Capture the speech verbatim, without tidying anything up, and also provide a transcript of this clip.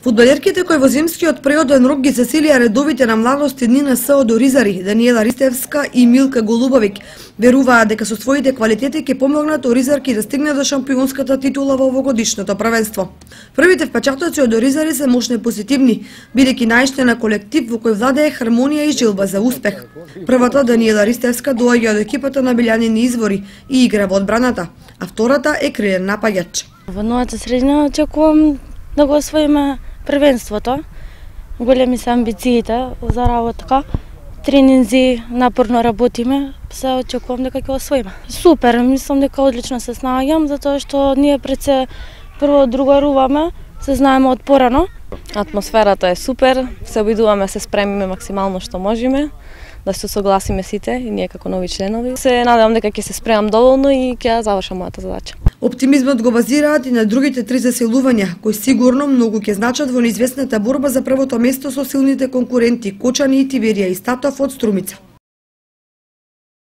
Фудбалерките кои во зимскиот природен рок ги засилија редовите на младости дни на СО Оризари, Даниела Ристевска и Милка Голубовик, веруваат дека со своите квалитети ќе помогнат Оризарки да стигнат до шампионската титула во овогодишното првенство. Првите впечатоци од Оризари се мощно позитивни, бидејќи најште на колектив во кој владее хармонија и желба за успех. Првата, Даниела Ристевска, доаѓа од екипата на Билјанини Извори и игра во одбраната, а втората е крилен напаѓач. Во новата средина очекувам да го освоиме првенството. Големи се амбициите за работа. Тренинзи, напорно работиме, се очекувам дека ќе освоиме. Супер, мислам дека одлично се снаоѓам, затоа што ние пред се прво другаруваме, се знаеме од порано. Атмосферата е супер, се обидуваме се спремиме максимално што можеме, да се согласиме сите и ние како нови членови. Се надевам дека ќе се спремам доволно и ќе ја завршам мојата задача. Оптимизмот го базираат и на другите три заселувања, кои сигурно многу ќе значат во неизвестната борба за првото место со силните конкуренти Кочани и Тиберија и Статов од Струмица.